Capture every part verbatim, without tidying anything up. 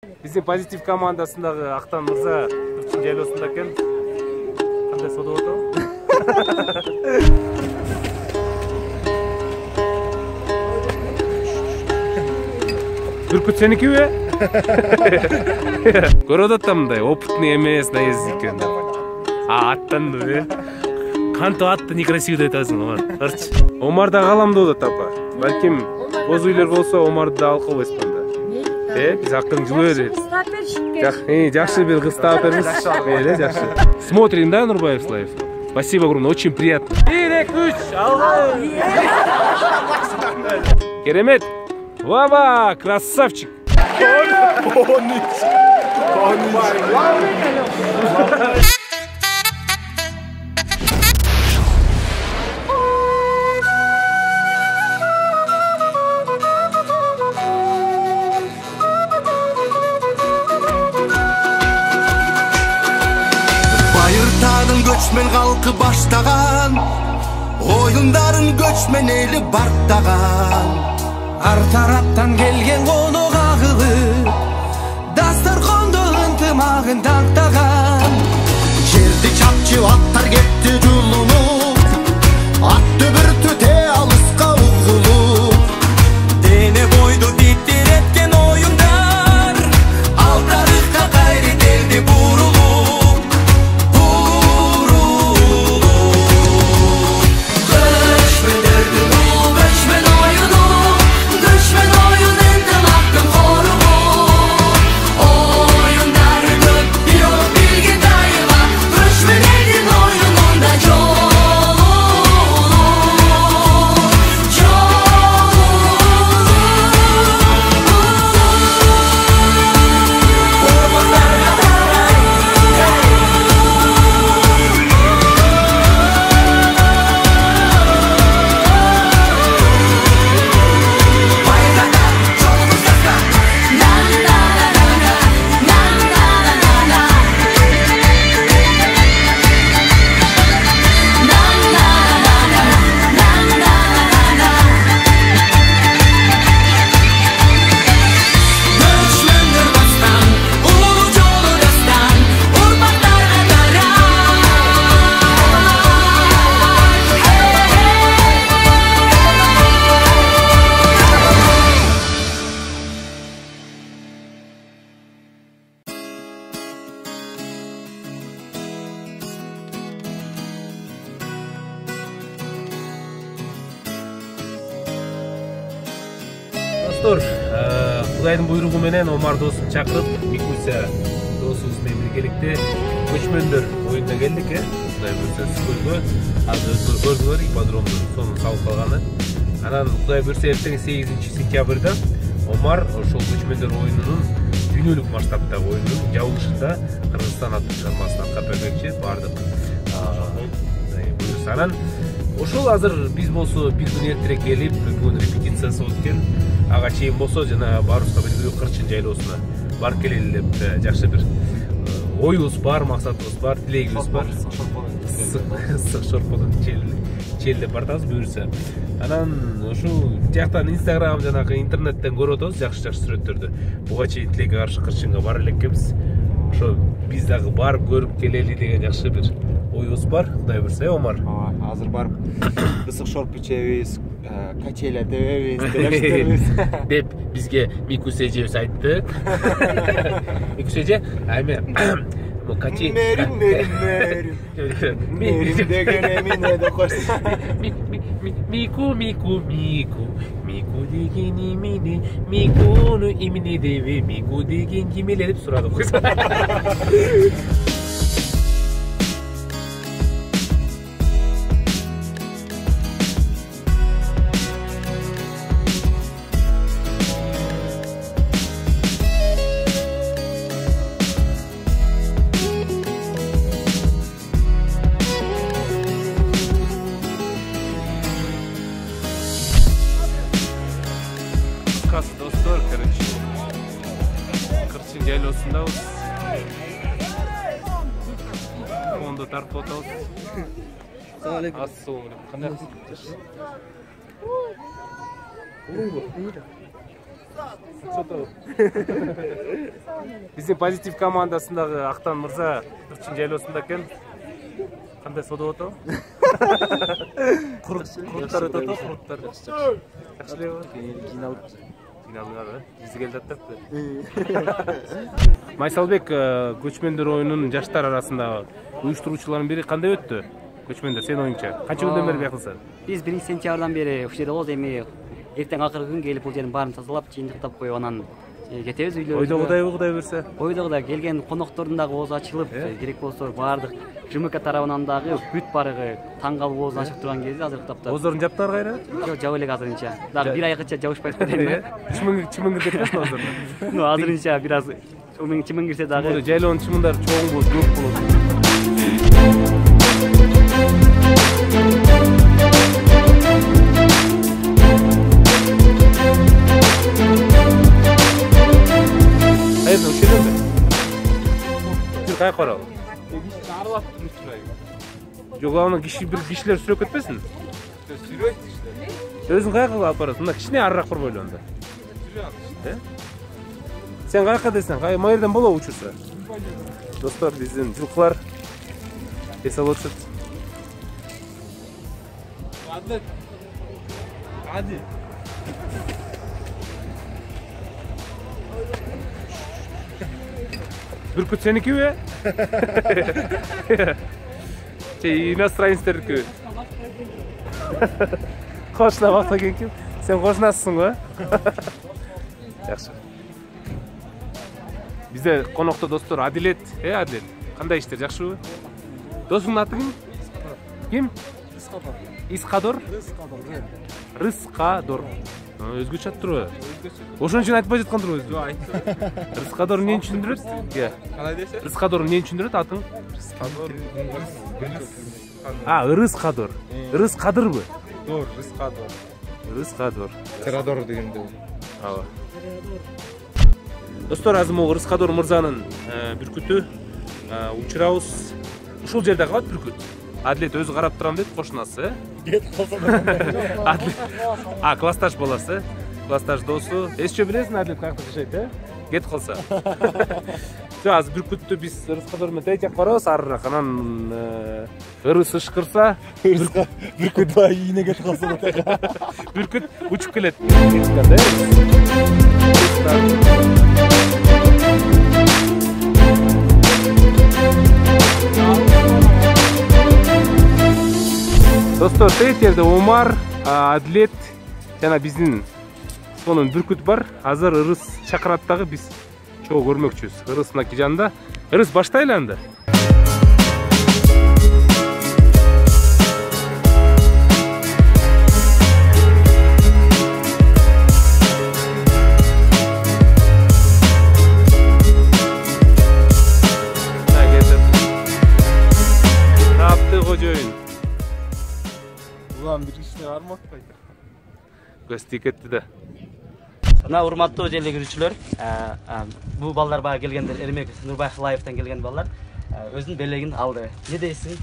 Биздин позитив командасындагы Актан мырза Кырчын жайлоосунда экен. Кандай соода болот? Бүркүт сеникиби? Көрүп атам мындай опытный эмес наездник экен. А аттанды. Кантип атты некрасивый деп атасың, Омар. Карчы. Омар да калам деп атат апа. Балким боз үйлөр болсо Омарды да алып койбойсуң да. Э, биз акырын жылы берет. Э, жакшы бир кыз таап беребиз. Эле жакшы. Смотрим, да, Нурбаев Лайф. Спасибо огромное, очень приятно. бир, эки, үч, алга. Керемет. Вава, красавчик. Байыртадың көчмөн калкы баштаган, оюндарын көчмөн эли бартаган. Ар тараптан келген конок агылып, дастаркондо ынтымагын тактаган. Жерди чапчып аттар кетти жулунуп, ат дүбүртү те алыска угулуп. Дене бойду титиреткен оюндар, ал тарыхка кайры делди бурулуп, бурулуп. Көчмөндөрдүн улуу көчмөн оюну, көчмөн оюн ынтымактын коругу. Оюндар көп, бирок бирге дайыма, көчмөн элдин оюнунда жолу, Göçmöndür bastan, ululu jolu dastan, urpaklarga tarar. Достор, Кудайдын буйругу менен Омар досун чакырып, Микуся досубуз менен биргеликте көчмөндөр оюнуна келдик, э. Кудай буйрса Скөлгө, азыр өздөрү көрдүлөр ипподромдун сонун салып калганы. Анан Кудай буйрса эртең сегизинчи сентябрда Омар ошол көчмөндөр оюнунун дүйнөлүк масштабтагы оюнунун жабылышында Кыргызстан аттуу чыгармасын аткарып бермекчи, бардык. Кудай буйрса анан ошол азыр биз болсо бир күн эртерээк келип, бүгүн репетициясы болуп экен. Ага чейин болсо жана баарыбызга белгилүү Кырчын жайлоосуна барып келели деп жакшы бир оюбуз бар, максатыбыз бар, тилегибиз бар. Ысык шорподон чел деп бардыбыз буйрса. Анан ушул жактан Instagram жанагы интернеттен көрүп атабыз жакшы-жакшы сүрөттөрдү. Буга чейин тилекке каршы Кырчынга бара элекпиз. Ошо биз дагы барып көрүп келели деген жакшы бир оюбуз бар. Кудай буйрса, Омар. Азыр барып ысык шорп ичебиз, качеля тебебиз деп бизге Микуся эжебиз айтты. Микуся эже, айме качи мерим мерим мерим деген эмне деп койсун. Мику мику мику мику деген эмне, микуну эмне дебе, мику деген кимеле деп сурады го. Достор, короче, Кырчын жайлоосундабыз. Фондо тартып атабыз. Assalamu alaikum. Assalamu alaikum. Кандай кыз? Биздин позитив командасындагы Актан мырза Кырчын жайлоосунда экен. Кандай содо өтөбү? Куруттар өтөбү, куруттар. Жакшы элеби? Жиналып Жиналган, бизи келип атат. Майсалбек, көчмөндөр оюнунун жаштар арасындагы уюштуруучулардын бири кандай өттү? Көчмөндөр сенин оюңча канча күндөн бери бияктасың? Биз биринчи сентябрдан бери ушул жерде болобуз. Эми эртең акыркы күн келип бул жерин баарын тазалап, жыйынтыктап коюп анан кетебиз үйлөрүбүзгө. Ойдогудай Кудай берсе. Ойдогудай келген коноктордун дагы оозу ачылып, керек болсо баардык ЖМК тарабынан дагы бүт барыгы таң калып оозун ачып турган кезде азыркы тапта. Оозорун жаптар кайра? Жок, жаба элек азырынча. Дагы бир айгыча жабышпайт дейм. Чымың чымың кетпесин оозорун. Ну, азырынча бир аз чымың чымың кирсе дагы. Жайлоонун чымындары чоң болуп, көп болот. Hayırdır, üşüdün mü? Bir kaya koralı. Yok onun kişi bir kişiler sürüp etmesin. Sürüp işte. Özün kaya kılıp aparasın. Bunda kişi ne arrak bir böyle onda? Sürüp. Sen kaya kadıysan, kaya mayırdan bola uçursa. Dostlar bizim жылкылар esal otur. Hadi. Hadi. Бүркүт сеники бе? Şey, иностранецтердики. Кошна бакта экен. Сен кошнасысың го? Жакшы. Бизде конокто достор Адилет, э Адилет. Кандай иштер, жакшыбы? Досуңдун аты ким? Ким? Исқадор. Исқадор? Исқадор. Рыскадор. Өзгөчө аттырбы? Ошон үчүн айтпай жаткандыр өзү. Жок, айттым. Рыскадор эмнени түшүндүрөт? Ия. Кандай десе? Рыскадор эмнени түшүндүрөт атың? Исқадор. А, Рыскадор. Рыскадырбы? Дор, Исқадор. Рыскадор. Тирадор дегенде. Ага. Достор, азыр могу Рыскадор мырзанын бүркүтү учурабыз. Ушул жерде калат бүркүт. Адилет өзү карап турам дейт, кошунасы, э? Кет калса. Адилет. А, классташ баласы, классташ досу. Эсче билесиң Адилет каякта жашайт, э? Кет калса. Жок, азыр бүркүттү биз Рыскадор менен тейчек барабыз, арыраак. Анан ырыс ышкырса, Бүркүт бай ийине кетип калса да. бүркүт учуп келет. Достор, тет жерде Омар, Адилет жана биздин сонун бүркүт бар. Азыр ырыс чакырат дагы, биз чогуу көрмөкчүбүз. Ырысынакы жанында. Ырыс баштайлы анда. Тапты кожоюн. Улам бир кишине бармакпайт. Гости кетти да. Мына урматтуу желегирүүчүлөр, бул балдар бага келгендер, Эрмек Нурбайхлаевтан келген балдар өзүнүн белегин алды. Не дейсиң?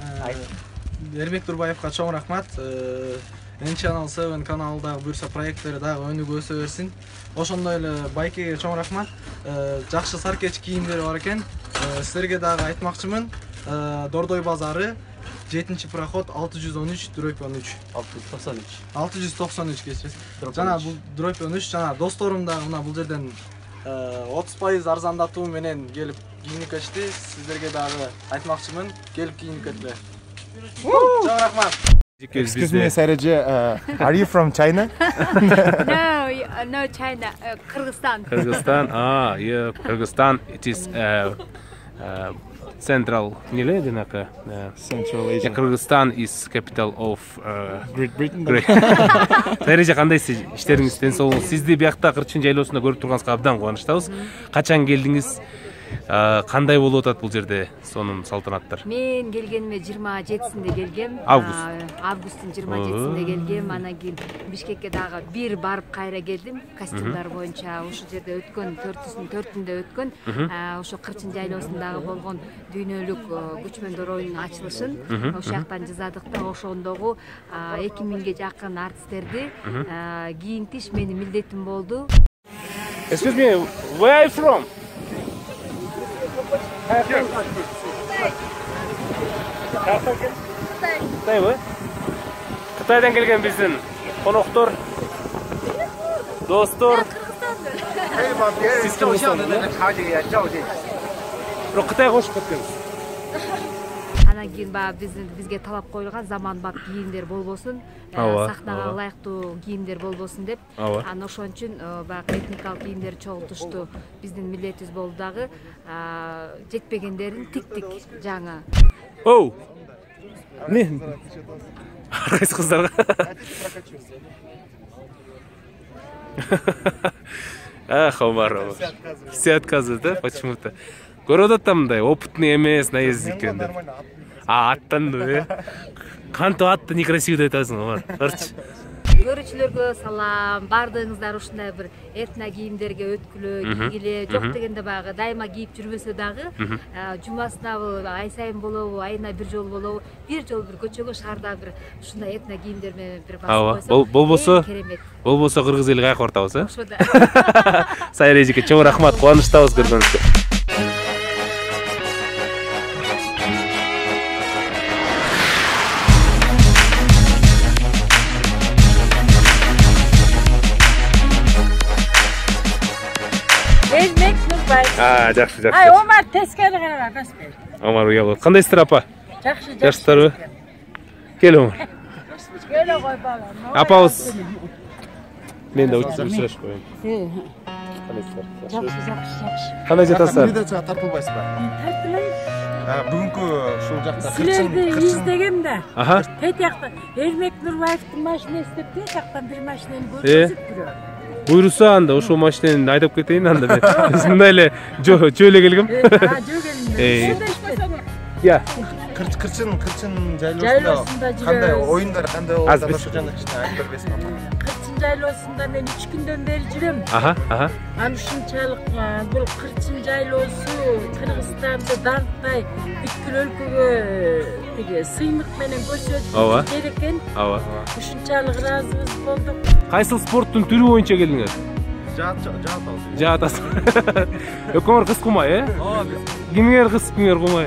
Эрмек Нурбаевга чоң рахмат. Н Channel seven каналдагы буюрса проекттери дагы өнүгө өсө берсин. Ошондой эле Байкеге чоң рахмат. Жакшы саркеч кийимдери бар экен. Силерге дагы айтмакчымын. Дордой базары жетинчи проход алты жүз он үч дробь он үч. алты жүз токсон үч. алты жүз токсон үч кечиресиз. Жана бул дробь он үч, жана досторум дагы мына бул жерден отуз пайыз арзандатуу менен келип кийинип кетти. Сиздерге дагы айтмакчымын, келип кийинип кетиңер. Чоң рахмат. Excuse me, Sareje, uh, are you from China? No, no China, uh, Kyrgyzstan. Kyrgyzstan, ah, yeah, Kyrgyzstan. It is uh, uh, central. Nile denaqa? Central Asia. Yeah, Kyrgyzstan is capital of uh, Great Britain. Great. Sareje, кандайсыз? Иштериңиз ден соолугуңуз. Сизди биякта Кырчын жайлоосунда көрүп турганыбызга абдан кубанычтабыз. Качан келдиңиз? Кандай болуп атат бул жерде сонун салтанаттар? Мен келгениме жыйырма жетисинде келгем. Август. Августтун жыйырма жетисинде келгем. Анан кийин Бишкекке дагы бир барып кайра келдим. Костюмдар боюнча ошол жерде өткөн төртүнчү төртүндө өткөн ошо Кырчын жайлоосундагы болгон дүйнөлүк көчмөндөр оюнунун ачылышын ошол жактан жазадык да. Ошондогу эки миңге жакын артисттерди кийинтиш менин милдетим болду. Excuse me, where are you from? Кытай мы? Кытайдан келген биздин коноктор, достор. Сиз Кыргызстандын? Бирок Кытайга кошуп кеткенсиз. Анан кийин баягы биздин бизге талап коюлган заманбап кийимдер болбосун, сахнага ылайыктуу кийимдер болбосун деп. Анан ошон үчүн баягы этникалык кийимдерди чогултушту. Биздин милдетибиз болду дагы. Жетпегендерин тиктик жаңы. Оу. Не? Кайсы кыздарга? Ах, Омаров. Все отказывают, да? Почему-то. Көрөт атам мындай опытный эмес, наездник экен деп. А аттан э? Кантип атты некрасивый деп атасың, Омар. Карчы. Көрүүчүлөргө салам, баардыгыңыздар ушундай бир этно кийимдерге өткүлөө, кийгиле, жок дегенде баягы дайыма кийип жүрбөсө дагы, жумасынабы, ай сайын болобу, айына бир жолу болобу, бир жолу бир көчөгө шаарда бир ушундай этно кийимдер менен бир басып койсо, болбосо, болбосо кыргыз эли кайка бартабыз, э? Ошо да. Сайыр эжеке, чоң рахмат, кубанычтабыз көргөнүңүзгө. Эрмек Нурбаев. А, жакшы, жакшы. Ай, Омар тескери карап, баспай. Омар уялып. Кандайсыздар апа? Жакшы, жакшысыздарбы? Кел, Омар. Келе кой балам. Апабыз. Мен да учурашып коеюн. Кандайсыздар? Жакшы, жакшы, жакшы. Кандай жатасыздар? Передачага тартылбайсызбы? Тартылайын. Бүгүнкү ушул жакта Силерди издегем да. Аха. Тет жакта Эрмек Нурбаевдин машинасы деп тет жактан бир машинаны көрсөтүп жүрөм. Буйруса анда ошол машинени айдап кетейин анда мен. Биз мындай эле жөө келгем. А, жөө келдим. Я. Кырчын, кырчын жайлоосунда кандай оюндар, кандай болду? Ошо жана кичине айтып бербесиңби? Кырчын жайлоосунда мен үч күндөн бери жүрөм. Аха, аха. Анан ушунчалык бул кырчын жайлоосу Кыргызстанды даңктай бүткүл өлкөгө тиги сыймык менен көрсөтүш керек экен. Ооба. Ушунчалык ыраазыбыз болдук. Кайсыл спорттун түрү боюнча келдиңер? Жаат, жаат. Жаат атасыз. Өкөңөр кыз кумай, э? Ооба. Кимиңер кыз, кимиңер кумай?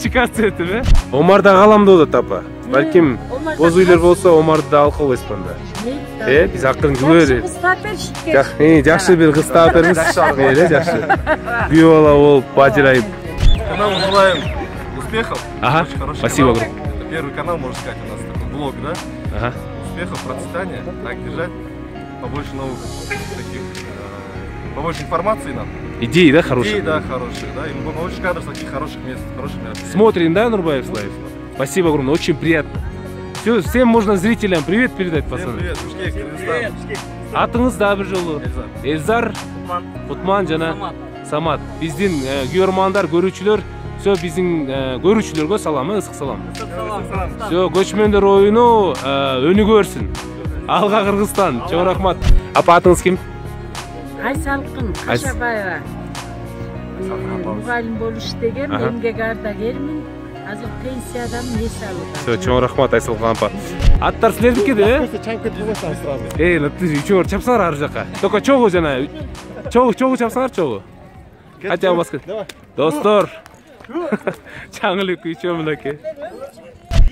Чикасы этип, э? Омар да каламды болот апа. Балким боз үйлөр болсо Омарды да алып койбойсузбу анда? Э, биз акырын күбөр. Жакшы, жакшы бир кыз таап бериңиз. Мейли, жакшы. Күйөө бала болуп, бажырайып. Канал желаем успехов. Ага. Спасибо огромное. Первый канал, можно сказать, у нас такой блог, да? Ага. Успехов, процветания, так держать, побольше новых таких, побольше информации нам. Идеи, да, хорошие? Идеи, да, хорошие, да, и побольше кадров таких хороших мест, хороших мероприятий. Смотрим, да, Нурбаев Лайв? Спасибо огромное, очень приятно. Все, всем можно зрителям привет передать, пацаны. Привет, Бишкек, Кыргызстан. Атыңыз да бир жолу. Эльзар, Утман жана Самат. Биздин көрөрмандар, көрүүчүлөр, все биздин көрүүчүлөргө салам, ысык салам. Все, көчмөндөр оюну өнүгө берсин. Алга Кыргызстан, чоң рахмат. Апа атыңыз ким? Айсалкын Кашабаева. Мугалим болуп иштегем, эмгек ардагермин. Азыр пенсиядамын, эс алып. Все, чоң рахмат Айсалкын апа. Аттар силердики да, э? Чайып кетип койсоңуз сразу. Эй, үчөөңөр чапсаңар ар жака. Только чогуу жана чогуу, чогуу чапсаңар чогуу. Хотя баскет. Достор. Чаңылык үчөө мынакей.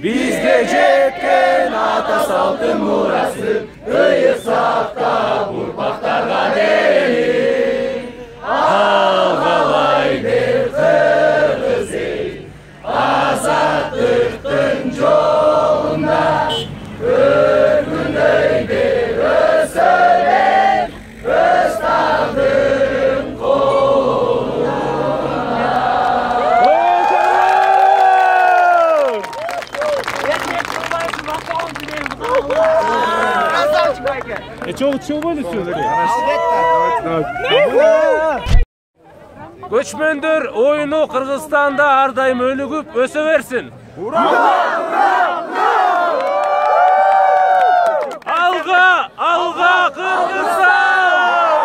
Бизде жеткен ата салтын мурасы, ыйык сактап урпактарга дээли. Алгалай бер кыргыз эл, азаттыктын жолунда өргүндөй бер өсөлөр, өз тагдырын колунда. Чего, чего были все-таки? Көчмөндөр оюну Кыргызстанда ар дайым өнүгүп өсө берсин. Ура! Алга, алга Кыргызстан!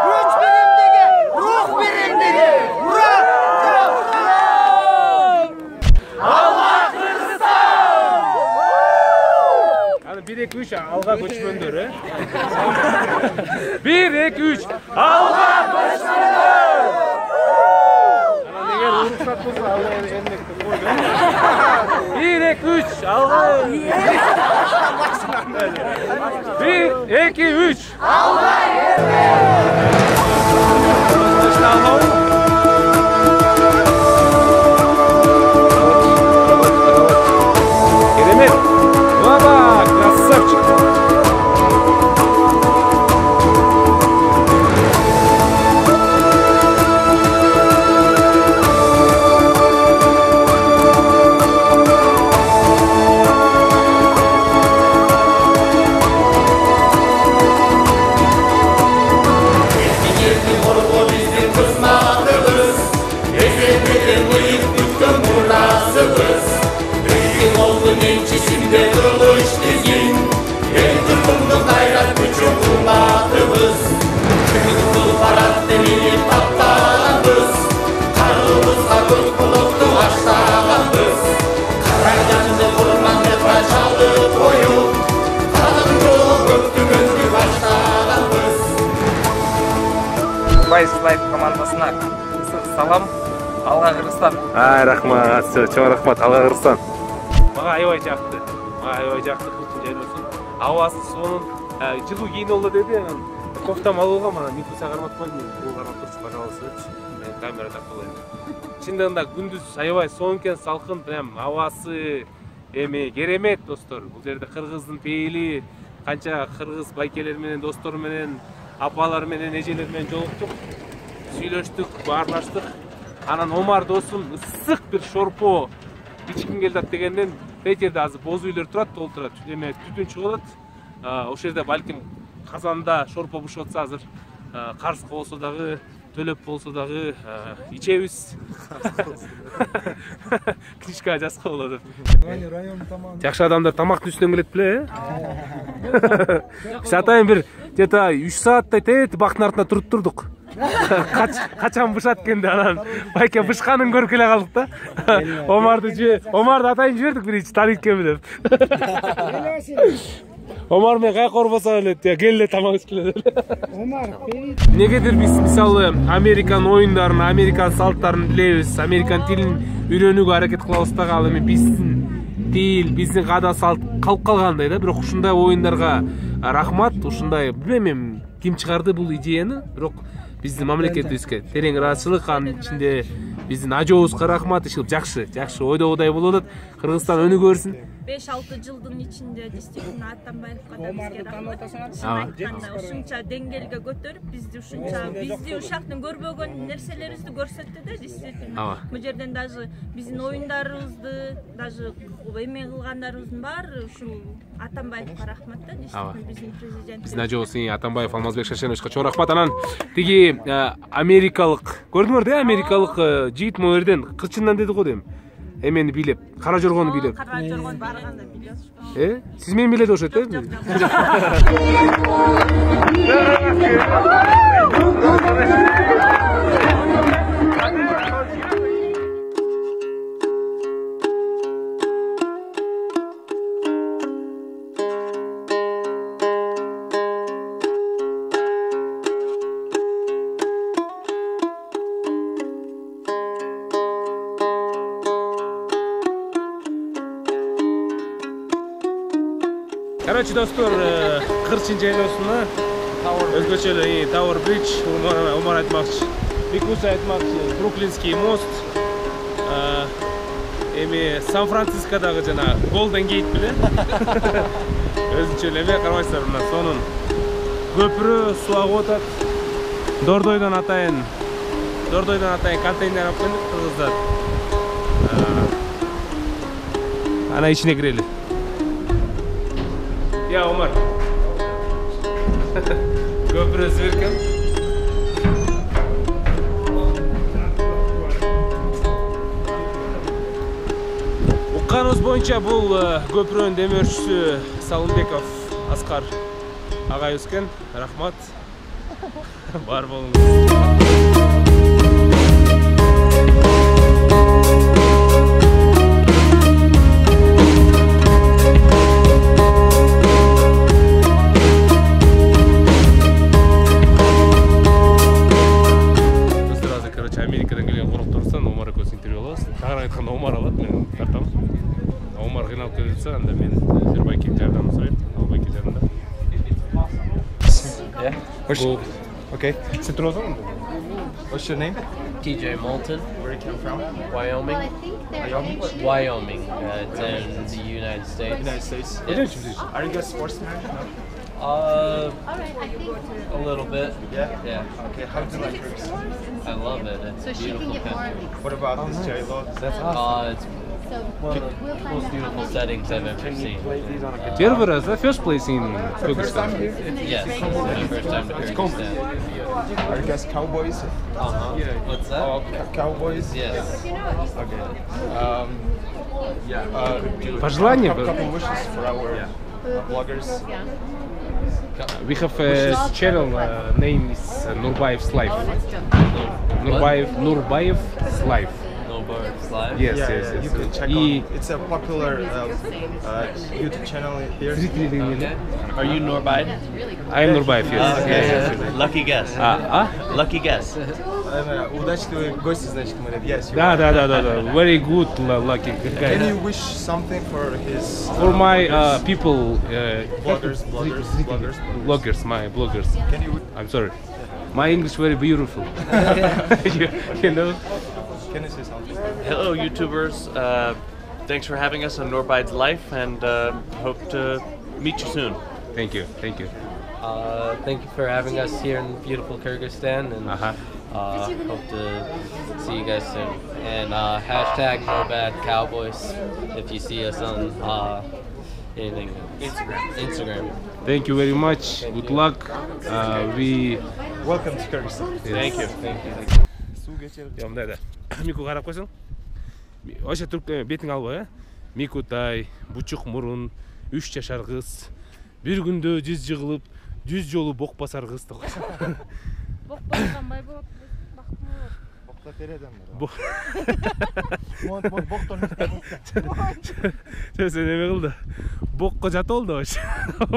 Күч биримдиги, рух биримдиги. Ура! Алга Кыргызстан! Аны бир эки үч үч алга көчмөндөр, э? бир, эки, үч. Алга көчмөндөр! Анан эгер уруксат болсо алга энмекти койду. бир, эки, үч. Алга. бир, эки, үч. Алга Керемет. Баба, красавчик. Байс Лайф командасына салам. Алга Кыргызстан. Ай, рахмат. Чоң рахмат. Алга Кыргызстан. Мага аябай жакты. Мага аябай жакты. Жайлоосун. Абасы, суунун жылуу кийин болду деди. Анан кофтам алууга мана Никуса карматпай, бул кармап турчу, пожалуйста. Мен камера тартып алайын. Чындыгында күндүз аябай сонун экен, салкын, прям абасы эми керемет, достор. Бул жерде кыргыздын пейили, канча кыргыз байкелер менен, достор менен, апалар менен, эжелер менен жолуктук. Сүйлөштүк, баарлаштык. Анан Омар досум ысык бир шорпо ичким келди дегенден Петерде азыр боз үйлөр турат, толтурат. Эме түтүн чыгып атат. Ошол жерде балким казанда шорпо бышып атса азыр карызга болсо дагы, төлөп болсо дагы ичебиз. Книжка жазса болот. Жакшы адамдар тамактын үстүнөн келет беле, э? Биз атайын бир где-то үч сааттай тет бактын артында туруп турдук. Качан бышат экенди, анан байке бышканын көрүп келе калдык да. Омарды же, Омарды атайын жибердик биринчи танıyт экенби деп. Омар мен кайка орбосо эле, келе тамак ичкиле деп. Омар, негедир биз мисалы Американ оюндарын, Американ салттарын билебиз, Американ тилин үйрөнүүгө аракет кылабыз дагы, ал эми биздин тил, биздин каада салт калып калгандай да. Бирок ушундай оюндарга рахмат, ушундай билбейм ким чыгарды бул идеяны, бирок биздин мамлекетибизге терең ыраазычылык, анын ичинде биздин ажообузга рахмат, ишилип жакшы, жакшы ойдогудай болуп атат. Кыргызстан өнүгө берсин. беш алты жылдын ичинде действительно Атамбаевга да бизге рахмат. Айтканда ушунча деңгээлге көтөрүп, бизди ушунча бизди ушактын көрбөгөн нерселерибизди көрсөттү да, действительно. Бул жерден даже биздин оюндарыбызды, даже эме кылгандарыбыздын баары ушул Атамбаевга рахмат да, действительно биздин президент. Биздин ажообуз Атамбаев Алмазбек Шашеновичке чоң рахмат. Анан тиги америкалык, көрдүңөр да, америкалык жигит могу жерден кылчындан деди го дейм. Эмени билеп, кара жоргону билеп. Кара жоргону барганда билесиз. Э? Сиз мени билет окшойт, э? Короче, достор, Кырчын жайлоосуна өзгөчө эле Tower Bridge, Омар айтмакчы, Микуса айтмакчы, Бруклинский мост, эми Сан-Францискодагы жана Golden Gate беле. Өзүнчө эле эме карабайсыздар, мына сонун көпүрө суу агып атат. Дордойдон атайын, Дордойдон атайын контейнер алып келдик кыргыздар. Ана ичине кирели. Я, Омар. Көпүрө сверкем. Укканыбыз боюнча бул көпүрөнүн демөөрчүсү Салымбеков Аскар агайыбыз экен. Рахмат. Бар болуңуз. болсо анда мен Нурбайке жардам сурайм. Нурбайке жардамда. Yeah. Cool. Okay. Sit down. What's your name? T J Moulton. Where you come from? Wyoming. Wyoming? Wyoming. Uh, it's in the United States. United States. Yeah. Are you guys sportsmen? No? Uh, a little bit. Yeah? Yeah. Okay, how do you like Kyrgyzstan? I love it. It's a beautiful country. What about this J-Lo? That's awesome. Uh, it's one of the most beautiful settings I've ever seen. Uh, Первый the first place in First time here? Yes, it's my first time to Kyrgyzstan. Are you guys cowboys? Uh-huh. What's that? Oh, c- cowboys? Yes. Okay. Um, yeah. Uh, do- Пожелания? Couple, couple wishes for our uh, bloggers. We have a channel uh, name is uh, Nurbayev's Life. Nurbayev Nurbayev's Life. Nurbayev's Life? Yes, Yeah, yes, yeah, yes. you can check И- on. It's a popular uh, uh, YouTube channel here. Okay. Are you Nurbayev? I am Nurbayev, yes. Okay. Yes, yes, yes. Lucky guess. А, а? Lucky guess. Uh, удачливый гость, значит, мы говорим. Yes, you Да, are. да, да, да, да. Very good, lu- lucky Can guy. you wish something for his For uh, my uh, bloggers? people, uh, bloggers, bloggers, bloggers, bloggers, my bloggers. Can you I'm sorry. My English very beautiful. you, you know? can you say something? Hello, YouTubers. Uh, thanks for having us on Nurbayev's Life, and uh, hope to meet you soon. Thank you, thank you. Uh, thank you for having us here in beautiful Kyrgyzstan, and Uh-huh. uh, hope to see you guys soon. And uh, hashtag No Bad Cowboys if you see us on uh, anything. Instagram. Instagram. Thank you very much. Good luck. Uh, we Welcome to Kyrgyzstan. Thank you. Thank you. Я мындай да. Мику карап койсоң. Ошо түрк бетиң алба, э? Микутай, бучук мурун, үч жашар кыз. Бир күндө жүз жыгылып, жүз жолу бок басар кыз деп койсоң. Бок басканбай болот. Бактым болот. Бокта тереден Бок. Монт монт боктон. Сен неме кылды? Бокко жатып алды ошо.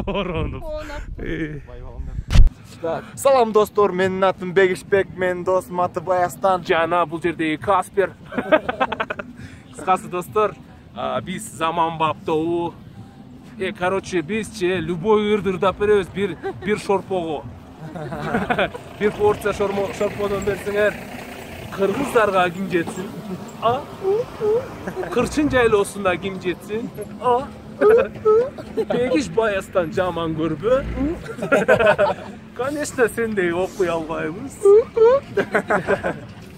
Ороонуп. Салам достор, менин атым Бегишбек, менин досум аты Баястан. Жана бул жердеги Каспер. Кыскасы достор, биз заманбап тобу. Э, короче, бизче любой ырдырдап беребиз бир бир шорпого. Бир порция шорподон берсеңер, кыргыздарга ким жетсин? А? Кырчын жайлоосунда ким жетсин? А? Бегиш Баястан жаман көрбө? Конечно, сендей окуй албайбыз.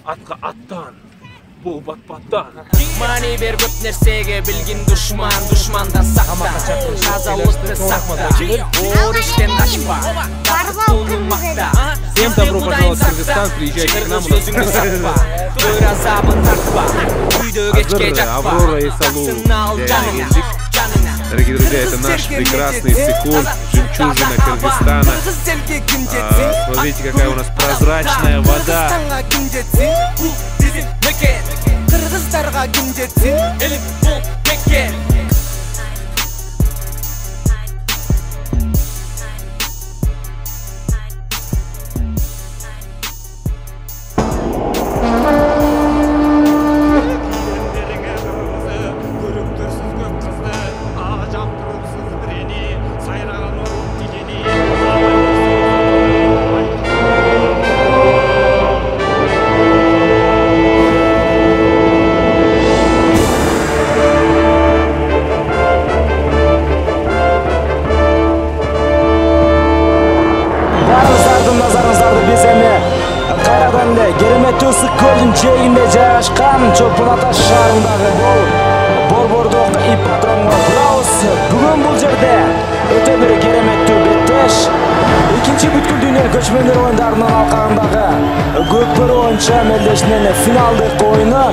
Атка аттан, бул батпаттан. Маани бер көп нерсеге билгин душман, душмандан сакта. Тазалыкты сакта. Оор иштен качпа. Бактылын макта. Всем добро пожаловать в Кыргызстан, приезжайте к нам. Сөзүңдү сакпа. Өр азабын тартпа. Үйдө кечке жатпа. Аврора и Салу. Дорогие друзья, это наш прекрасный цикун, жемчужина Кыргызстана. А, смотрите, какая у нас прозрачная вода. Кыргыздарга ким жетсин? Элим бул бекер. Кереметтүү ысык көлдүн жээгинде жайгашкан Чолпон Ата шаарындагы Борбордук ипподромго барабыз. Бүгүн бул жерде өтө бир кереметтүү беттеш экинчи бүткүл дүйнө көчмөндөр оюндарынын алкагындагы көкбөрү боюнча мелдешинин финалдык оюну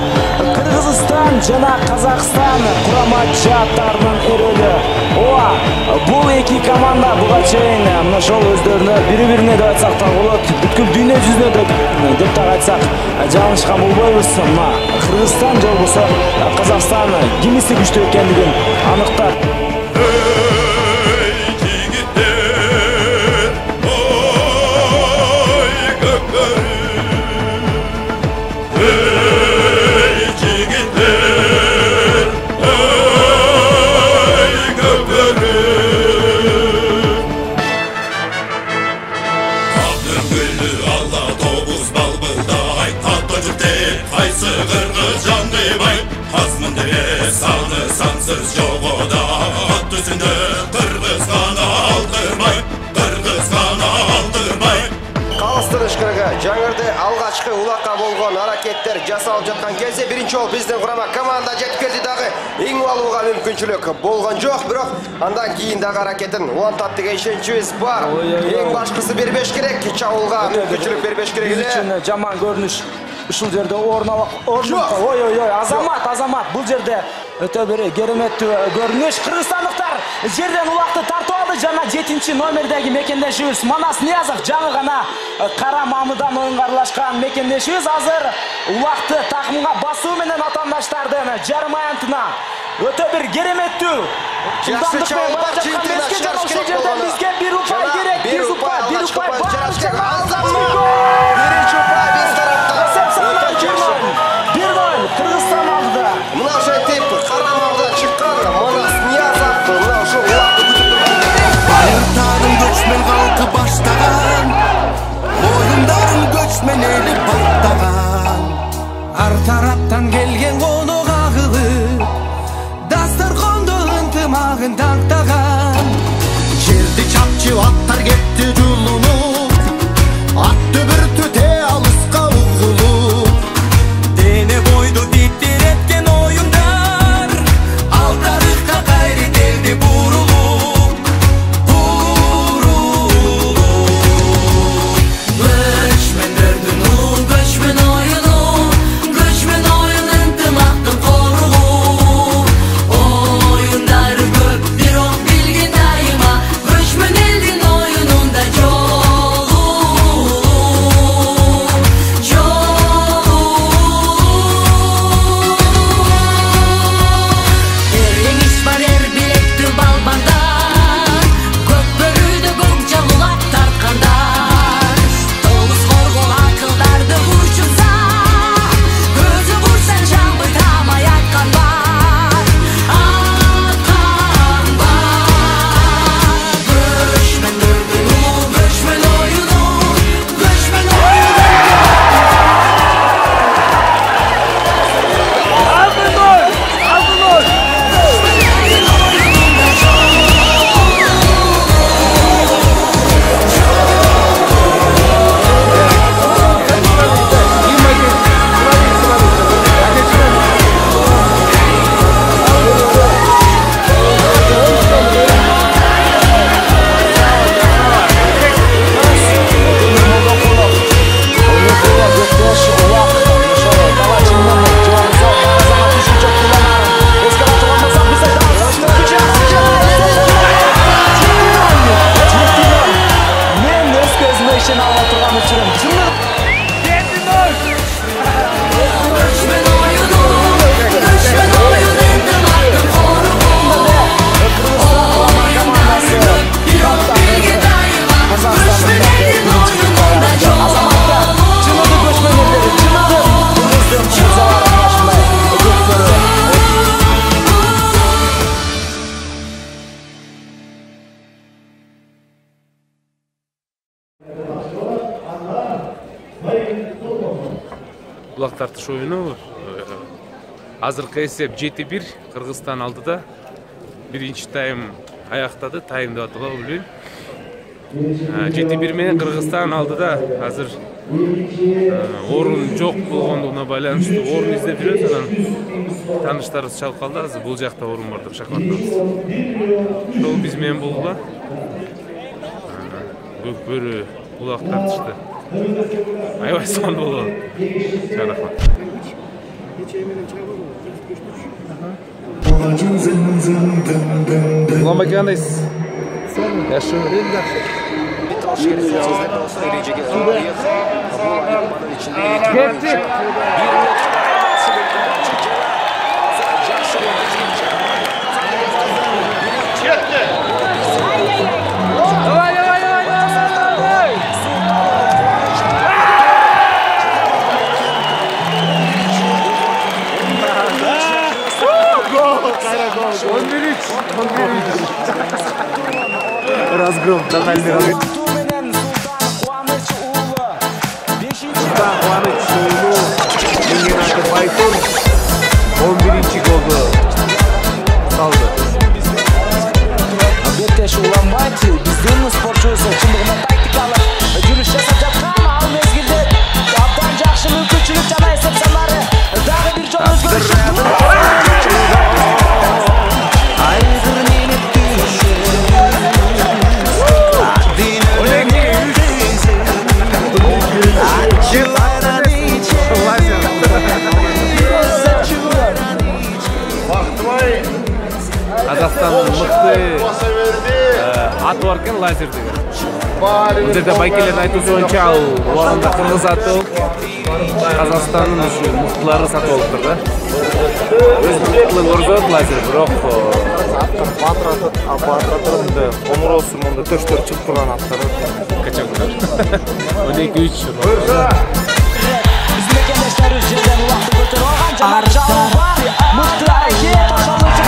Кыргызстан жана Казакстан курама жааттарынын эрөлү. Ооба, бул эки команда буга чейин мына ошол өздөрүнө бири-бирине деп айтсак да болот, бүткүл дүйнө жүзүнө деп так айтсак жаңылышкан болбойбуз. Мына Кыргызстан же болбосо Казакстан кимиси күчтүү экендигин аныктап. Hey, саны сансыз жогода ат үстүндө кыргызган алдырбай кыргызган алдырбай калыстырыш кыргы жаңырды алгачкы улакка болгон аракеттер жасалып жаткан кезде биринчи жолу биздин курама команда жетип келди дагы эң алууга мүмкүнчүлүк болгон жок, бирок андан кийин дагы аракетин улантат деген ишеничибиз бар. Эң башкысы бербеш керек, чабуулга мүмкүнчүлүк бербеш керек эле. Жаман көрүнүш ушул жерде орун алат. Ой ой ой, Азамат, Азамат бул жерде өтө бир кереметтүү көрүнүш. Кыргызстандыктар жерден улакты тартып алды. Жана жетинчи номердеги мекендешибиз Манас Ниязов жаңы гана Кара Мамыдан оюнга аралашкан мекендешибиз азыр улакты такымга басуу менен атаандаштардын жарым аянтына өтө бир кереметтүү жылдамдык менен бара жаткан мезгил жана ушул жерден бизге бир упай керек, бир упай, бир упай Азамат. Биринчи упай биз тараптан. бир ноль Кыргызстан алды. Мына ошентип Кара Мамыдан чыккан Манас Ниязов мына ушул улакты күтүп турган. Айыртаның көчмөн калкы баштаган, оюндарын көчмөн эли баттаган. Ар тараптан келген конок агылып, дасторкондо ынтымагын тактаган. Жерди чапчып аттар кетти жулунуп, ат дүбүртү те алыска угулуп. Дене бойду титиреткен оюндар, ал тарыхка кайры келди бурулуп, бурулуп. Көчмөндөрдүн улуу көчмөн оюну, көчмөн оюн ынтымактын коругу. Оюндар көп, бирок билгин дайыма, көчмөн элдин оюнунда жолу, жолу. Эреңиш бар эр билектүү балбандар, көк бөрүдө көк жалулап тарткандар. Толус коргол акылдарды урчунса, көзү бурсан жамбый тамай аткан бар, аткан бар. Көчмөндөрдүн улуу көчмөн оюну, көчмөн оюну. Мен өз көзүмө ишене албай турган учурум чындык. Көчмөн оюну, көчмөн оюн ынтымактын коругу. Оюндар көп, бирок билгин дайыма, көчмөн элдин оюнунда жолу. Чыныгы көчмөн элдери, чыныгы кыргыздын чыгзалары арасында көктөрү. Улак тартыш оюну азыркы эсеп жети бир Кыргызстан алдыда. Биринчи тайм аяктады, тайм деп аталабы билбейм. жети бир менен Кыргызстан алдыда. Азыр орун жок болгондугуна байланыштуу орун издеп жүрөбүз. Анан тааныштарыбыз чалып калды. Азыр бул жакта орун бар деп шакалаттабыз. Ошол биз менен болгула. Көк бөрү улак тартышты. Аябай сон болду. Чарахмат. Уланбай кандайсыз? Жакшы. Кетти. Давай, давай, давай, давай. он бир үч, он бир үч. Разгром, тотальный разгром. Султан Кубаныч уулу Меңгенаты Байтон он биринчи голду биздин спортчубуз чындыгында тактикалык жүрүш жасап жаткан ал мезгилде абдан жакшы мүмкүнчүлүк жана эсеп санары дагы бир жолу өзгөрүшү Казакстандын мыкты аты бар экен лазер деген. Бул жерде байкелердин айтуусу боюнча ал убагында кыргыз аты Казакстандын ушу мыктылары сатып алыптыр да. Өз мыктылыгын көрсөтөт лазер, бирок батыратырында комуроосу монда төштөр чыгып турган аттар качагындар. он эки үч. Биздин мекендештерибиз жерден убакты көтөрүп алган жана жабы бар мыкты аракет ошонучу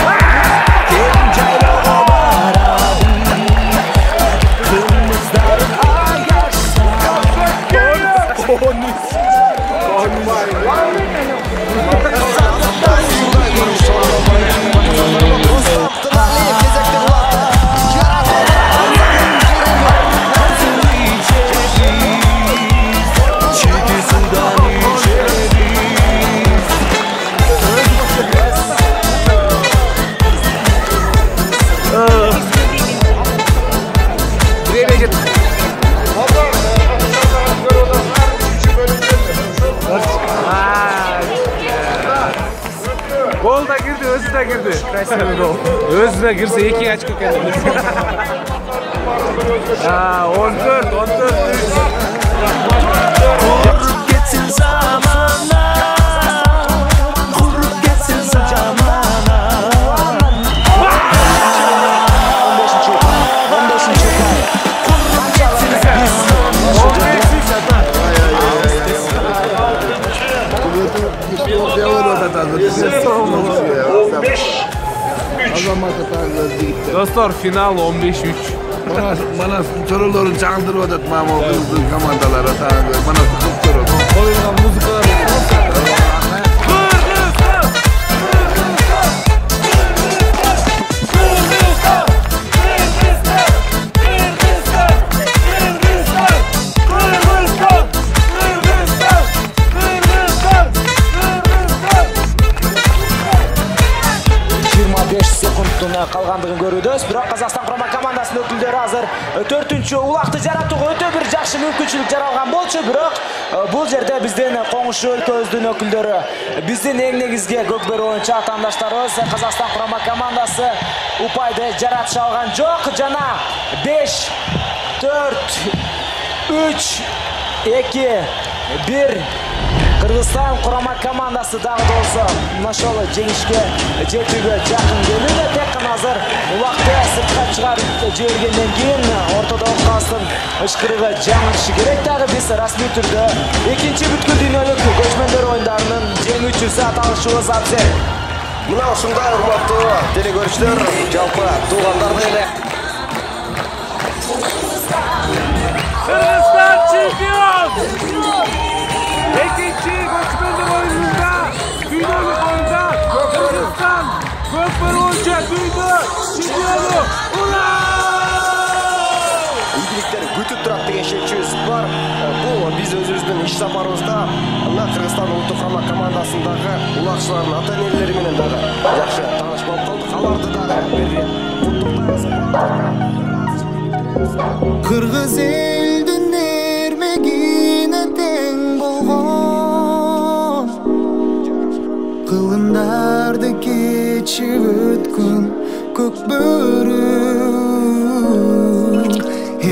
Gol da girdi, özü de girdi. Красивый gol. Özü de girse iki açko kendini. Ha, on dört, on dört. Kurup geçsin zamana, kurup geçsin zamana. Dostlar, final on beş üç. Bana, bana soruların çaldırıp atat mama kızdı komandalara tanıdı. Bana sıkıp durur. Koyulan müzikalar. Калгандыгын көрүүбүз, бирок Казакстан курама командасынын өкүлдөрү азыр төртүнчү улакты жаратууга өтө бир жакшы мүмкүнчүлүк жаралган болчу, бирок бул жерде биздин коңшу өлкөбүздүн өкүлдөрү, биздин эң негизги көкбөрү оюнчу атаандаштарыбыз Казакстан курама командасы упайды жаратыша алган жок жана беш, төрт, үч, эки, бир Кыргызстан курама командасы дагы да болсо ошол жеңишке жетүүгө жакын келүүдө. Тек гана азыр убакты сыртка чыгарып жибергенден кийин ортодогу калыстын ышкырыгы жаңылышы керек. Дагы биз расмий түрдө экинчи бүткүл дүйнөлүк көчмөндөр оюндарынын жеңүүчүсү аталышыбыз абзел. Мына ушундай урматтуу телекөрүүчүлөр, жалпы туугандарды эле Kırgızistan çempiyon! İkinci göçmenler oyununda, dünyalık oyunda Kırgızistan gökbörü oyuncu duydu, çempionu! Ura! Ийгиликтер күтүп турат деген шешүүбүз бар. Бул биз өзүбүздүн иш сапарыбызда мына Кыргызстан улуттук курама командасындагы улакчылардын ата-энелери менен дагы жакшы тааныш болуп калдык. Аларды дагы бир Кыргыз элдин эрмегине тең болгон кылымдарды кечип өткөн көкбөрү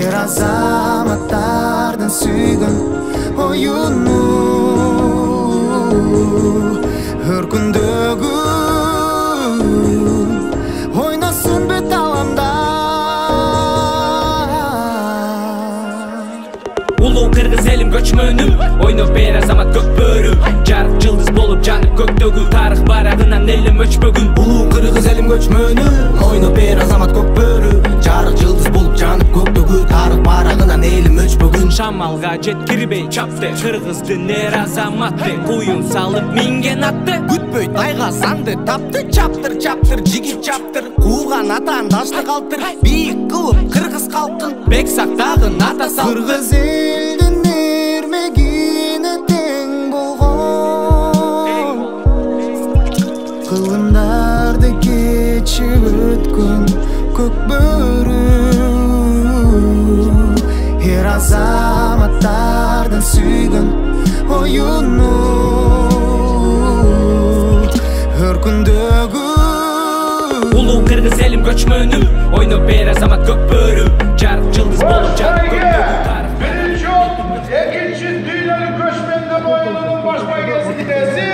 эр азаматтардын сүйгөн оюну өркүндөгү ойносын бет аламда. Улуу кыргыз элим көчмөнүм, ойноп бер азамат көкбөрү, жарык жылдыз болуп жанып көктөгү, тарых барагынан элим өчпөгүн. Улуу кыргыз элим көчмөнүм, ойноп бер азамат көкбөрү, жарык жылдыз болуп жанып көктөгү тарых барагынан элим өчпөгүн шамалга жеткирбей чапты кыргыздын эр азаматы куюн салып минген атты күтпөй тайга санды тапты чаптыр чаптыр жигит чаптыр кууган атан дашты калтыр бийик кылып кыргыз калкын бек сактагын ата сал кыргыз элдин эрмегине тең болгон кылымдарды кечип өткөн көк бөрү эр азаматтардын сүйгөн оюну өркүндөгү улуу кыргыз элим көчмөнү ойноп эр азамат көк бөрү жарык жылдыз болуп жанып көктөгү тарых биринчи жолу экинчи дүйнөлүк көчмөндүн оюнунун баш байгесинеси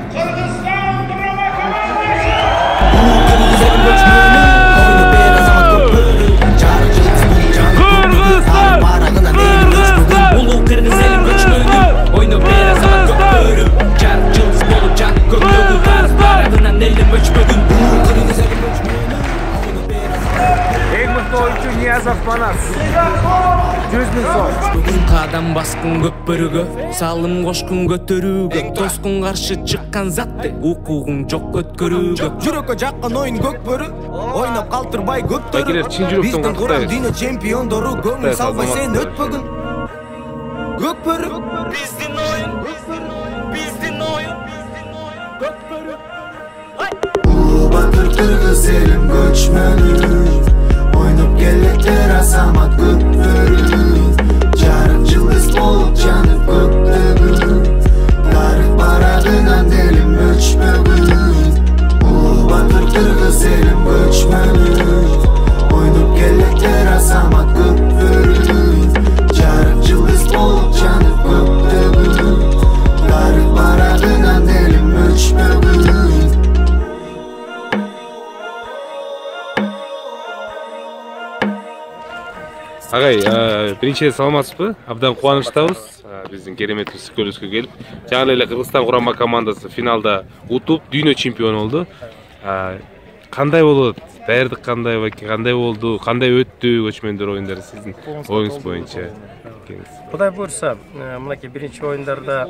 Кыргызстан драма командасы улуу кыргыз элим көчмөнү ойноп эр азамат көк бөрү жарык жылдыз болуп жанып көктөгү тарых барагынан элим өчпөгүн улуу кыргыз элим көчмөнү ойноп эр азамат көк бөрү жарык жылдыз болуп жанып көктөгү тарых барагынан элим өчпөгүн улуу кыргыз элим эң мыкты оюнчу Ниязов Манас жүз миң сом. Бүгүн кадам баскын көк бөрүгө, салым кошкун көтөрүүгө, тоскун каршы чыккан затты, укугуң жок өткөрүүгө. Жүрөккө жаккан оюн көк бөрү, ойноп калтырбай көптөрү. Биздин курам дүйнө чемпиондору көңүл салбай сен өтпөгүн. Көк бөрү, биздин оюн, биздин оюн, көк бөрү. Улуу батыр кыргыз элим көчмөнү, ойноп келеттер азамат көк бөрү, жарык жылдыз болуп жанып көктөгү, тарых барагынан элим өчпөгүн. Улуу батыр кыргыз элим көчмөнү, ойноп келеттер азамат көк бөрү, жарык жылдыз болуп жанып көктөгү, тарых барагынан элим өчпөгүн. Агай, биринчиден саламатсызбы? Абдан кубанычтабыз. Биздин керемет Скөлүскө келип, жаңы эле Кыргызстан курама командасы финалда утуп, дүйнө чемпиону болду. Кандай болот? Даярдык кандай, кандай болду? Кандай өттү көчмөндөр оюндары сиздин оюңуз боюнча? Кудай буйрса, мынакей биринчи оюндарда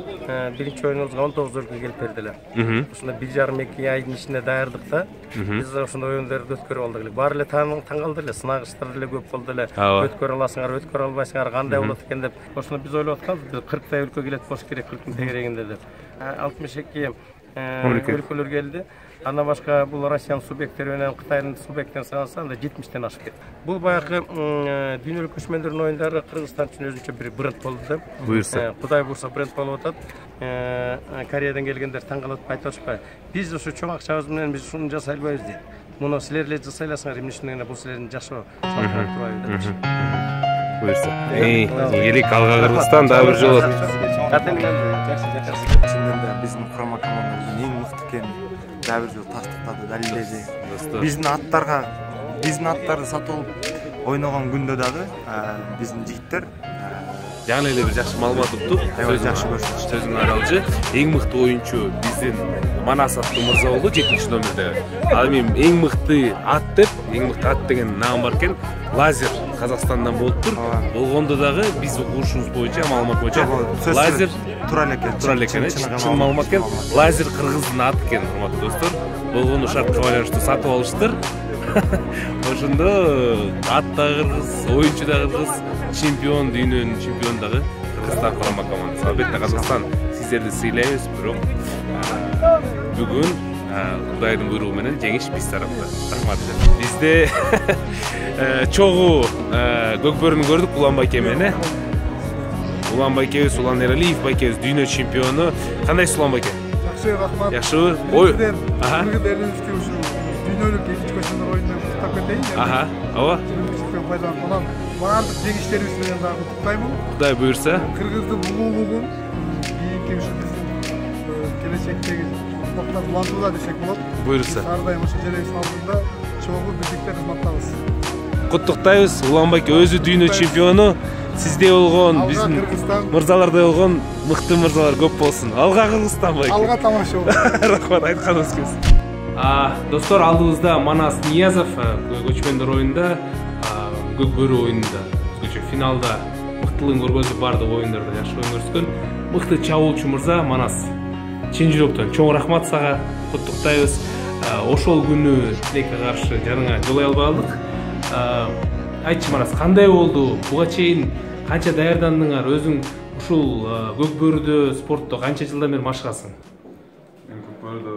биринчи оюнубузга он тогуз өлкө келип бердилер. Ушунда бир жарым эки айдын ичинде даярдыкта биз ошондой оюндарды өткөрүп алдык эле. Баары эле таң калды эле, сынагычтар деле көп болду эле. Өткөрө аласыңар, өткөрө албайсыңар, кандай болот экен деп. Ошондо биз ойлоп атканбыз, кырктай өлкө келет болуш керек кырктын тегерегинде деп. алтымыш эки өлкөлөр келди. Андан башка бул Россиянын субъекттери менен Кытайдын субъекттерин санаса анда жетимиштен ашып кетти. Бул баягы дүйнөлүк көчмөндөрдүн оюндары Кыргызстан үчүн өзүнчө бир бренд болду да. Буйрса. Кудай буйрса бренд болуп атат. Кореядан келгендер таң калып айтып атышпайбы? Биз ушу чоң акчабыз менен биз ушуну жасай албайбыз дейт. Муну силер эле жасай аласыңар, эмне үчүн эле бул силердин жашоо салттарыңыз турбайбы деп. Буйрса. Эй, келик алга Кыргызстан дагы бир жолу. Биздин курама командабыздын эң мыкты экенин дагы бир жолу тастыктады, далилдеди. Биздин аттарга, биздин аттарды сатып алып ойногон күндө дагы биздин жигиттер жаңы эле бир жакшы маалымат уктук. Жакшы көрсөтүштү. Сөзүңдү аралжы. Эң мыкты оюнчу биздин Манас аттуу мырза болду жетинчи номерде. Ал эми эң мыкты ат деп, эң мыкты ат деген наам бар экен. Лазер Казакстандан болуптур. Болгондо дагы биз угушубуз боюнча, маалымат боюнча Лазер туура эле экен. Туура эле экен, чын маалымат экен. Лазер кыргыздын аты экен, урматтуу достор. Болгону шартка байланыштуу сатып алыштыр. Ошондо ат да кыргыз, оюнчу да кыргыз, чемпион, дүйнөнүн чемпиону дагы Кыргызстан курама командасы. Албетте Казакстан сиздерди сыйлайбыз, бирок бүгүн Кудайдын буйругу менен жеңиш биз тарапта. Рахмат. Бизде чогуу көк бөрүнү көрдүк Улан байке менен. Улан байкебиз, Улан Эралиев байкебиз дүйнө чемпиону. Кандайсыз Улан байке? Жакшы, рахмат. Жакшыбы? Ой. Аха. Элибизге ушу дүйнөлүк экинчи көчмөндөр оюнунан куттап кетейин. Аха. Ооба. Пайдаланып, баардык жеңиштерибиз менен дагы куттуктаймын. Кудай буйрса. Кыргыздын улуулугун кийинки ушу биздин келечектеги ортоктор улантууда десек болот. Буйрса. Ар дайым ошо жеребиздин алдында чогуу биздиктер кызматтабыз. Куттуктайбыз. Улан байке өзү дүйнө чемпиону. Сизде болгон, биздин мырзаларда болгон мыкты мырзалар көп болсун. Алга Кыргызстан байке. Алга тамаша болсун. Рахмат, айтканыңыз келсин. Достор, алдыбызда Манас Ниязов көчмөндөр оюнда көк бөрү оюнунда өзгөчө финалда мыктылыгын көргөзүп бардык оюндарда жакшы оюн көрсөткөн мыкты чабуулчу мырза Манас чын жүрөктөн чоң рахмат сага, куттуктайбыз. Ошол күнү тилекке каршы жарыңа жолой албай калдык. Айтчы Манас, кандай болду? Буга чейин канча даярдандыңар? Өзүң ушул көк бөрүдө спортто канча жылдан бери машыгасың? Мен көк бөрүдө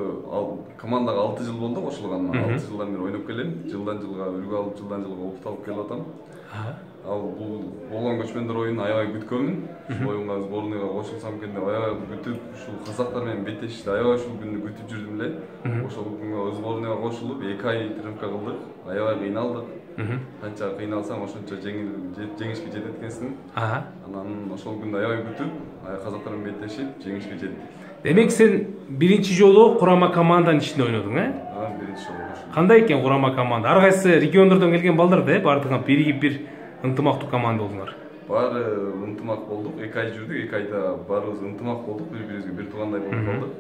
командага алты жыл болду кошулганына. алты жылдан бери ойноп келем. Жылдан жылга үлгү алып, жылдан жылга опыт алып келип атам. Ал бул болгон көчмөндөр оюнун аябай күткөнмүн. Ушул оюнга сборныйга кошулсам экен деп аябай күтүп, ушул казактар менен беттешти. Аябай ушул күндү күтүп жүрдүм эле. Ошол күнгө сборныйга кошулуп эки ай тренировка кылдык. Аябай кыйналдык. Канча кыйналсаң ошончо жеңишке жетет экенсиң. Анан ошол күндү аябай күтүп, казактар менен беттешип, жеңишке жеттик. Демек сен биринчи жолу курама команданын ичинде ойнодуң, э? А, биринчи жолу. Кандай экен курама команда? Ар кайсы региондордон келген балдар да, бардыгы биригип бир ынтымактуу команда болдуңар. Баары ынтымак болдук, эки ай жүрдүк, эки айда баарыбыз ынтымак болдук, бири-бирибизге бир туугандай болуп калдык.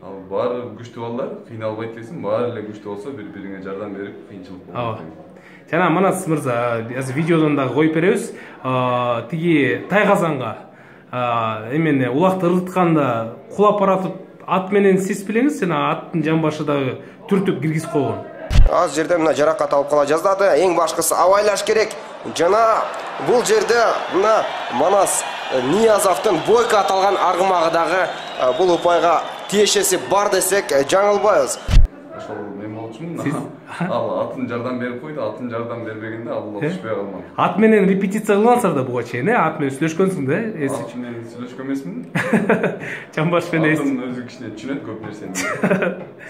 Ал баары күчтүү балдар, кыйналбайт экенсиң, баары эле күчтүү болсо бири-бириңе жардам берип, кыйынчылык болбойт. Жана Манас мырза, азыр видеодон дагы коюп беребиз. Тиги Тайгазанга эмени улакты ыргытканда кулап баратып ат менен сиз билеңиз, сен аттын жамбашы дагы түртүп киргизип койгон. Аз жерде мына жаракат алып кала жаздады. Эң башкысы абайлаш керек. Жана бул жерде мына Манас Ниязовдун Бойко аталган аргымагы дагы бул упайга тиешеси бар десек жаңылбайбыз. Ошол мен болчумун. Ал атын жардам берип койду, атын жардам бербегенде ал окшпой калган. Ат менен репетиция кылгансыңар да буга чейин, э? Ат менен сүйлөшкөнсүң да, эси. Ат менен сүйлөшкөн эмесмин. Жамбаш менен атын өзү кичине түшүнөт көп нерсени.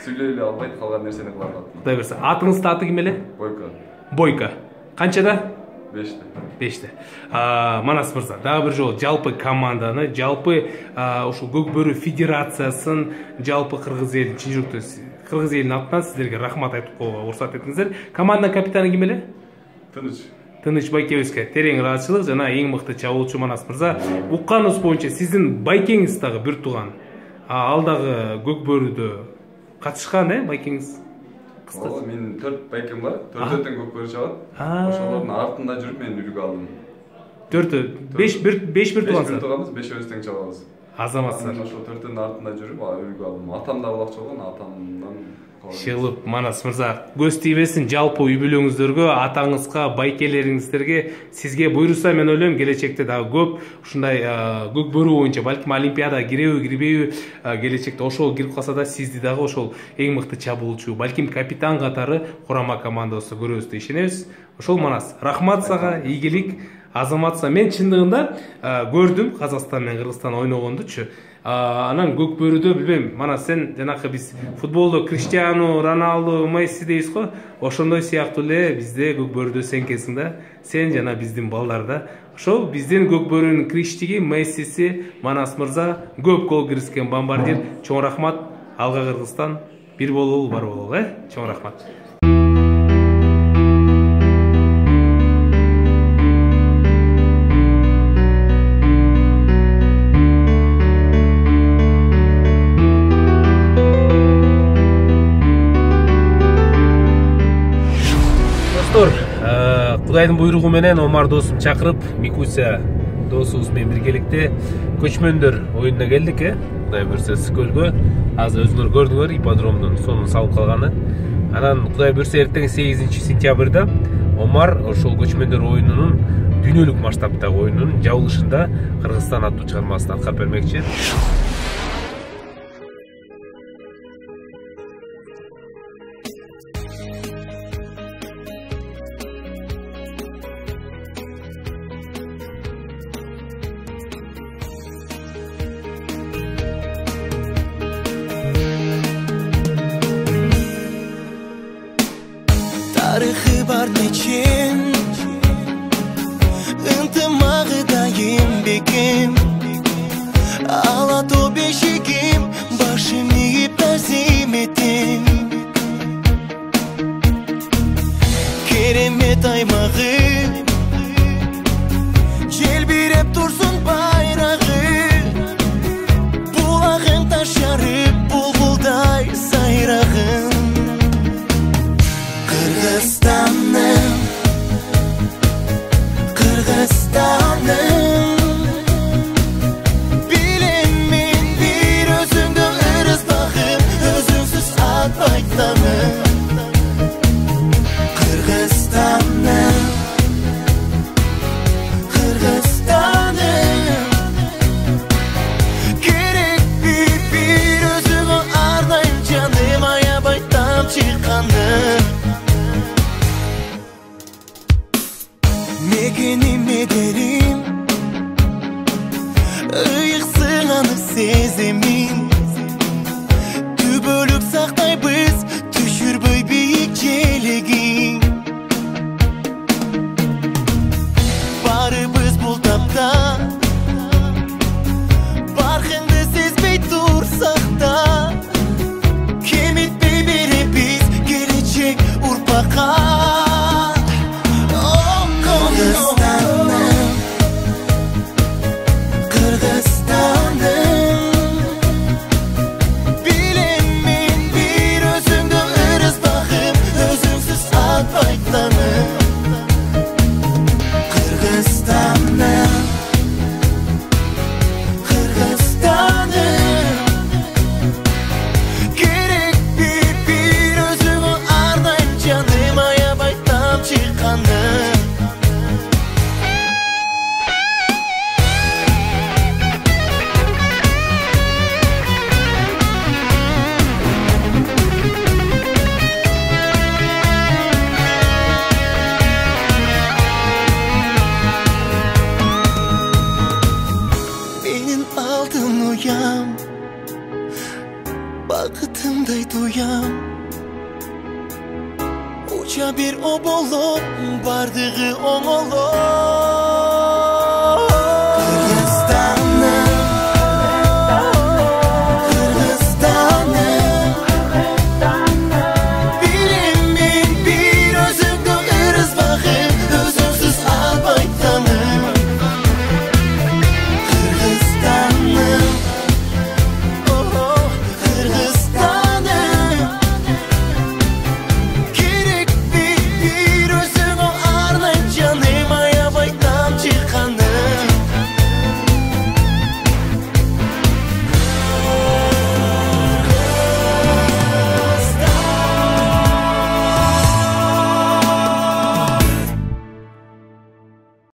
Сүйлөй эле албайт, калган нерсени кылат. Кудай берсе. Атыңыздын аты ким эле? Бойко. Бойко. Канчада? беште. беште. Манас мырза, дагы бир жолу жалпы команданы, жалпы ушул Көк бөрү федерациясын, жалпы кыргыз элин чын жүрөктөн кыргыз элинин атынан сиздерге рахмат айтып коюуга уруксат этиңиздер. Команданын капитаны ким эле? Тыныч. Тыныч Байкебевке терең ыраазычылык жана эң мыкты чабуулчу Манас мырза. Укканыбыз боюнча сиздин байкеңиз дагы бир тууган. Ал дагы Көк бөрүдө катышкан, э, байкеңиз? Ооба, менин төрт байкем бар. Төртөөтөн Көк бөрү чабат. Ошолордун артында жүрүп мен үлгү алдым. Төртөө, беш бир беш бир туугансыз. беш бир тууганбыз, бешөөбүз тең чабабыз. Азаматсыздар. Мен ошол төртөөнүн артында жүрүп, үлгү алдым. Атам да булакчы болгон, атамдан Шылып, Манас мырза, көз тийбесин жалпы үй бүлөңүздөргө, атаңызга, байкелериңиздерге, сизге буйруса мен ойлойм келечекте дагы көп ушундай Көк бөрү боюнча балким олимпиадага киреби, кирбейби, келечекте ошол кирип калса да сизди дагы ошол эң мыкты чабуулчу, балким капитан катары курама командабызда көрөбүз деп ишенебиз. Ошол Манас, рахмат сага, ийгилик. Азаматса мен чындыгында көрдүм Казакстан менен Кыргызстан ойногондучу. Анан Көк бөрүдө билбейм, мана сен жанакы биз футболдо Криштиану, Роналду, Месси дейбиз го, ошондой сыяктуу эле бизде Көк бөрүдө сен экенсиң да. Сен жана биздин балдарда. Ошол биздин Көк бөрүнүн Криштиги, Мессиси, Манас мырза, көп гол киргизген бомбардир. Чоң рахмат. Алга Кыргызстан, бир бололу, бар бололу, э? Чоң рахмат. Кудайдын буйругу менен Омар досум чакырып, Микуся досубуз менен биргеликте көчмөндөр оюнуна келдик, э? Кудай буйрса Скөлгө. Азыр өзүңөр көрдүңөр ипподромдун сонун салып калганы. Анан Кудай буйрса эртең сегизинчи сентябрда Омар ошол көчмөндөр оюнунун дүйнөлүк масштабтагы оюнунун жабылышында Кыргызстан аттуу чыгармасын аткарып бермекчи. Тарихы бар нечен, ынтымағы дайым бекем, алату бешігім, башым иіп тәзім етем. Керемет аймағы, желбиреп тұрсын байрағы, бұлағын ташарып, бұлбұлдай сайрағын. Кыргызстанның туям, бакытымдай туям. Уча бир о болуп, бардыгы оңолот.